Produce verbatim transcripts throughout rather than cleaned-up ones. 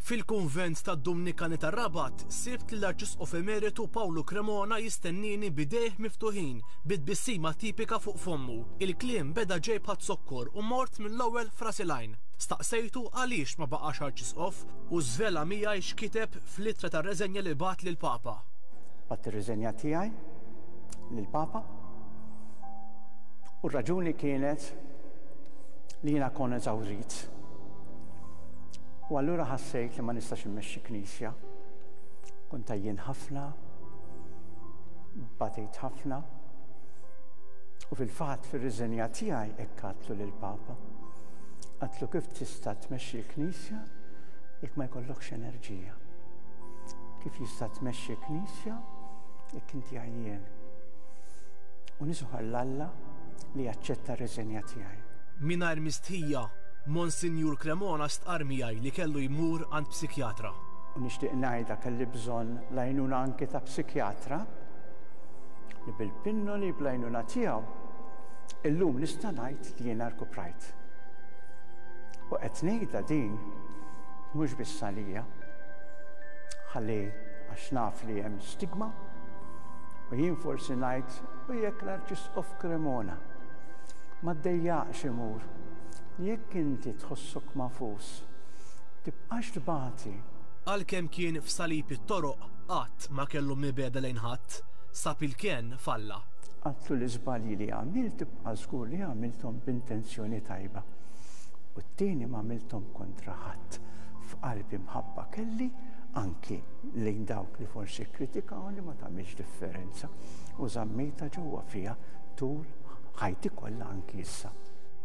Fil-kunvent tad-Dumnikani tar-Rabat sibt lill-Arċisqof Emeritu Pawlu Cremona jistennini b'idejh miftuħin, bi tbissima tipika fuq fommu. Il-kliem beda ġej bħaz-zokkor u mort mill-ewwel f'ras il-għajn. Staqsejtu għaliex ma baqax Arċisqof u żvela miegħi x'kiteb fl-ittra tar-reżenja li bagħat lill-Papa. Bgħatt ir-riżenja tiegħi lill-Papa u r-raġuni kienet li jiena kont eżawrit. U allura ħassejt li ma nistax immexxi knisja. Kont għajjien ħafna, batejt ħafna. U fil-fatt fir-riżenja tiegħi hekk għedtlu lill-Papa. Għedtlu kif tista' tmexxi l-knisja jekk ma jkollokx enerġija. Kif jista' tmexxi knisja jekk inti għajjien. U nisħar 'l Alla li jaċċetta r-riżenja tiegħi. Mingħajr mistħija, Monsinjur Cremona stqar miegħi li kellu jmur għand psikjatra. U nixtieq ngħidha, kelli bżonn l-għajnuna anke ta' psikjatra li bil-pinnoli, bl-għajnuna tiegħu, illum nista' ngħid li jiena rkuprajt. U qed ngħidha din mhux biss għalija, ħalli għax naf li hemm stigma u jien forsi ngħid u jekk l-Arċisqof Cremona ma ddejjaqx imur, jekk inti tħossok magħfus, tibqax tbati. Għalkemm kien f'salib it-toroq, qatt ma kellu mibegħda lejn ħadd, sab il-kenn f'Alla. Għedtlu l-iżbalji li għamilt tibqa' żgur li għamilthom b'intenzjoni tajba. U t-tieni ma għamilthom kontra ħadd. F'qalbi mħabba kelli anki lejn dawk li forsi kritikawni, ma tagħmilx differenza. U żammejtha ġewwa fija tul ħajti kollha, anki issa.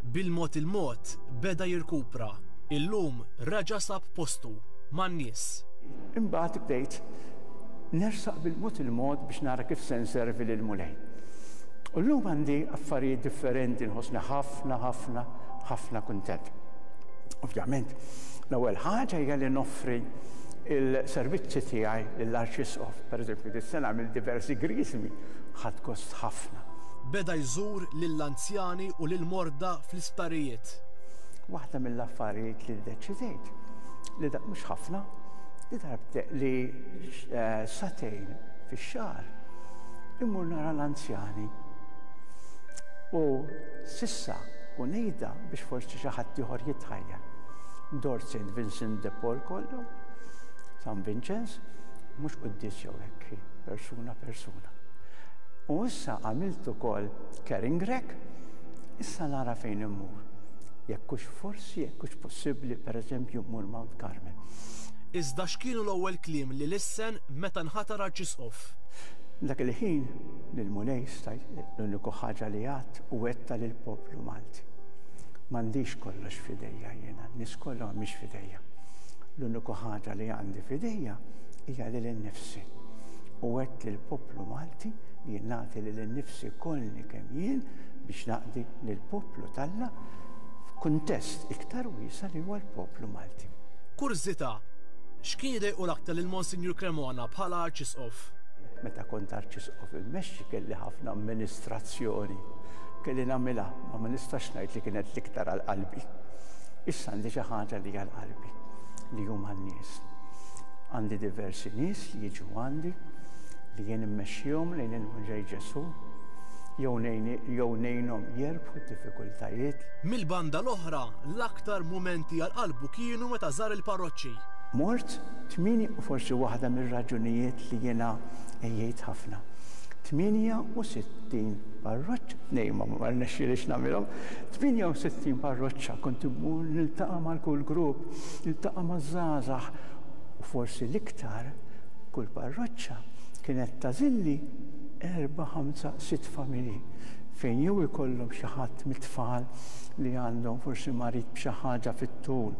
Bil-mod il-mod beda jirkupra. Illum reġa' sab postu man-nies. Imbagħad bdejt nersaq bil-mod il-mod biex nara kif se nservi lill-Mulej. U llum għandi affarijiet differenti, nħossni ħafna, ħafna, ħafna kuntent. Ovvjament, l-ewwel ħaġa hija li noffri il-servizzi tiegħi lill-Arċisqof. Pereżempju, dis-sena għamilt diversi griżmi, ħadt gost ħafna. Beda jżur lill-anzjani u lill-morda fl-isptarijiet. Waħda mill-affarijiet li ddeċidejt li dak mhux ħafna, li darbte li eh, sagħtejn fix-xahar immur nara l-anzjani. U s'issa, u ngħidha biex forsi xi ħadd ieħor jitħajjar. Dort Saint Vincent de Paul kollu, San Vincenz, mhux quddies jew hekk, persuna persuna. U issa għamilt ukoll caring rack, issa nara fejn immur. Jekk hux forsi, jekk hux possibbli, pereżempju, mmur Mount Carmel. Iżda x'kienu l-ewwel kliem li lissen meta nħatar Arċisqof? Dak il-ħin lill-Mulej stajt l-uniku ħaġa li għedt u għedtha lill-poplu Malti. M'għandix kollox f'idejja jiena, nies kollha mhix f'idejja. L-uniku ħaġa li għandi f'idejja hija lili nnifsi. U għedt lill-poplu Malti li jien nagħti lili nnifsi kollni kemm jien biex naqdi lill-poplu t'Alla f'kuntest iktar wiesa' li huwa l-poplu Malti. Kurżità, x'kien idejqu l-aktar lil Monsinjur Cremona bħala Arċisqof? Meta kont Arċisqof immexxi kelli ħafna amministrazzjoni. Kelli nagħmilha, ma ma nistax ngħid li kienet l-iktar għal qalbi. Issa għandi xi ħaġa li għal qalbi, li huma n-nies. Għandi diversi nies li jiġu għandi li jien immexxihom lejn il-Mulej Ġesù, jew ngħinhom jerbħu d-diffikultajiet. Mill-banda l-oħra, l-aktar mumenti għal qalbu kienu meta żar il-parroċċi. Mort tmieni u forsi waħda mir-raġunijiet li jiena għejjejt ħafna. tmienja u sittin parroċċa, nej, ma ma rnexxilix nagħmilhom, tmienja u sittin parroċċa kont immur niltaqa' mal kull grupp, niltaqa' maż-żgħażagħ u forsi l-iktar kull parroċċa kienet tagħżilli erba', ħamsa, sitt familji fejn jew ikollhom xi ħadd mit-tfal li għandhom forsi marid b'xi ħaġa fit-tul,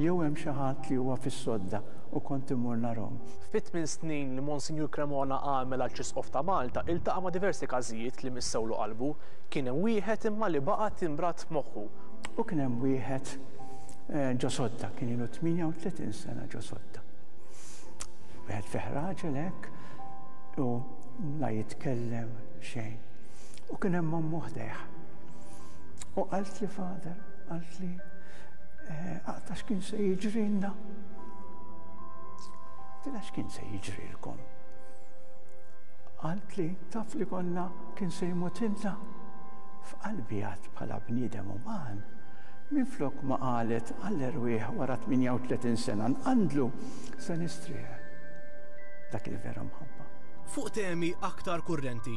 jew hemm xi ħadd li huwa fis-sodda u kont immur narahom. Fit-tmien snin li Monsinjur Cremona għamel Arċisqof ta' Malta, iltaqa' ma' diversi każijiet li missewlu qalbu. Kien hemm wieħed imma li baqa' timbrat f'moħħu. U kien hemm wieħed eh, ġo sodda, kien ilu tmienja u tletin sena ġo sodda. Wieħed fih raġel hekk u la jitkellem xejn. U kien hemm ommu ħdejh. U qaltli, "Father," qaltli, "aqta' x'kien se jiġrilna." Għedtilha x'kien se jiġrilkom? Qaltli taf li konna kien se jmutilna. F'qalbi għad bħala bniedem uman, minflok ma qalet għall-erwieħ wara tmienja u tletin sena nqandlu se nistrieħ. Dak il-vera mħabba. Fuq temi aktar kurrenti,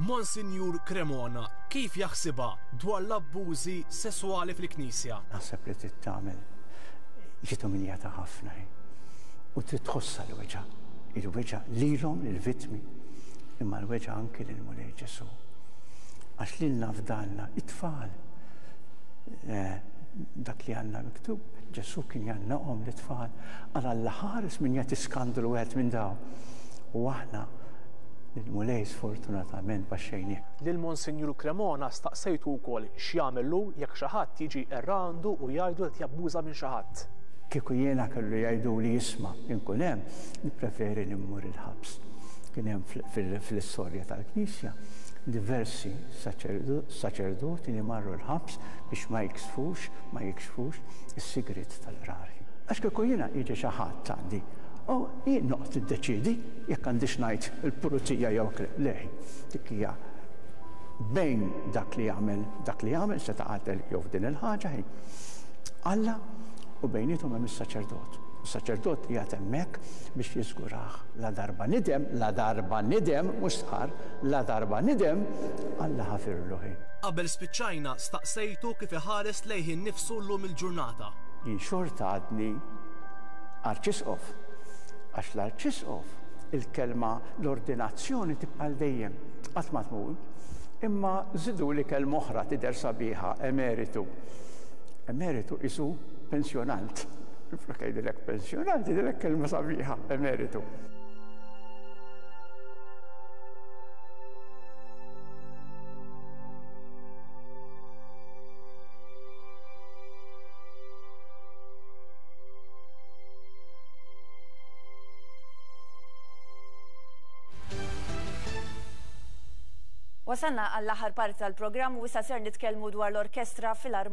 Monsinjur Cremona kif jaħsibha dwar l-abbużi sesswali fil-Knisja? Naħseb li trid tagħmel ġiet umiljata ħafna hi. U trid tħossha l-weġgħa, il-weġgħa lilhom lill-vittmi, imma l-weġgħa anki lill-Mulej Ġesù. Għax lilna fdalna it-tfal. Eh, dak li għandna miktub, Ġesù kien jgħannaqhom l-itfal, għal Alla ħares min jagħti skandlu wieħed minn daw. U aħna lill-Mulej sfortunatament baxxejnieh. Lil Monsinjur Cremona staqsejtu wkoll x'jagħmel hu jekk xi ħadd jiġi errandu u jgħidu qed jabbuża minn xi ħadd. Kieku jiena kellu jgħidu li jisma' inkun hemm, nippreferi li mmur il-ħabs. Kien hemm fl-istorja tal-Knisja diversi saċerdoti li marru l-ħabs biex ma jiksfux, ma jikxfux is-sigriet tal-qrari. Għax kieku jiena jiġi xi ħadd għandi, u jien noqgħod niddeċiedi jekk għandix ngħid il-pulizija jew le, dik hija bejn dak li jagħmel, dak li jagħmel se taqatel jew f'din il-ħaġa hi. Alla u bejniethom hemm is-saċerdot. Is-saċerdot qiegħed hemmhekk biex jiżgurah la darba nidem, la darba nidem, mhux stqarr, la darba nidem, Alla ħafirlu ħin. Qabel spiċċajna staqsejtu kif iħares lejh innifsu llum il-ġurnata. Jien xorta għadni arċisqof, għax l-arċisqof il-kelma l-ordinazzjoni tibqa' dejjem, qatt ma tmur. Imma żidu li kelma oħra tidher sabiħa, emeritu. Emeritu isu pensjonant. Flok jgħidilek pensjonant, jgħidilek kelma sabiħa, emeritu. Wasalna għall-aħħar parti tal-programm u issa ser nitkellmu dwar l-Orkestra Filarmonika.